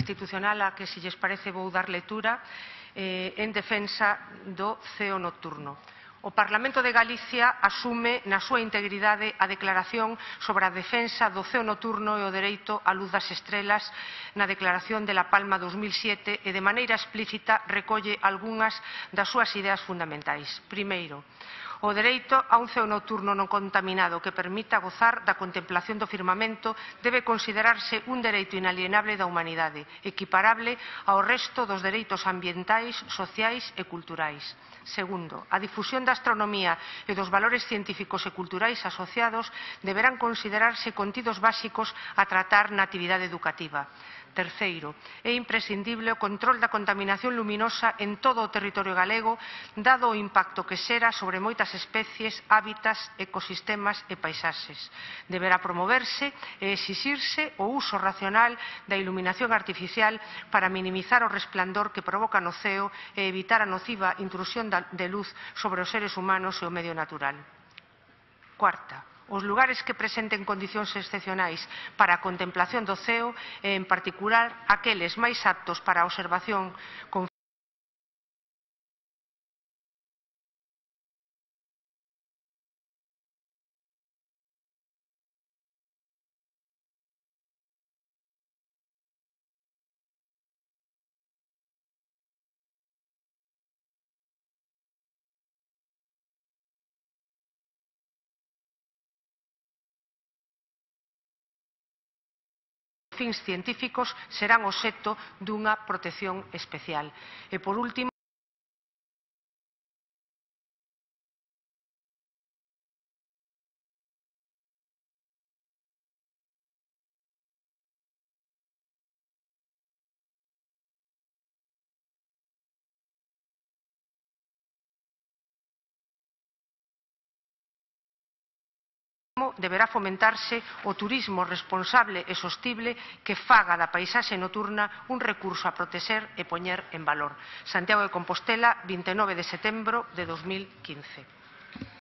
institucional a que, se lles parece, vou dar lectura en defensa do ceo nocturno. O Parlamento de Galicia asume na súa integridade a declaración sobre a defensa do ceo nocturno e o dereito á luz das estrelas na Declaración de La Palma 2007 e de maneira explícita recolle algunhas das súas ideas fundamentais. Primeiro, o dereito a un ceo nocturno non contaminado que permita gozar da contemplación do firmamento debe considerarse un dereito inalienable da humanidade, equiparable ao resto dos dereitos ambientais, sociais e culturais. Segundo, a difusión da astronomía e dos valores científicos e culturais asociados deberán considerarse contidos básicos a tratar na actividade educativa. Terceiro, é imprescindible o control da contaminación luminosa en todo o territorio galego, dado o impacto que xera sobre moitas especies, hábitats, ecosistemas e paisaxes. Deberá promoverse e exixirse o uso racional da iluminación artificial para minimizar o resplandor que provoca no ceo e evitar a nociva intrusión de luz sobre os seres humanos e o medio natural. Cuarta, os lugares que presenten condicións excepcionais para a contemplación do ceo e, en particular, aqueles máis aptos para a observación con fins científicos serán obxecto dunha protección especial. E, por último, deberá fomentarse o turismo responsable e sostible que faga da paisaxe nocturna un recurso a protexer e poñer en valor. Santiago de Compostela, 29 de setembro de 2015.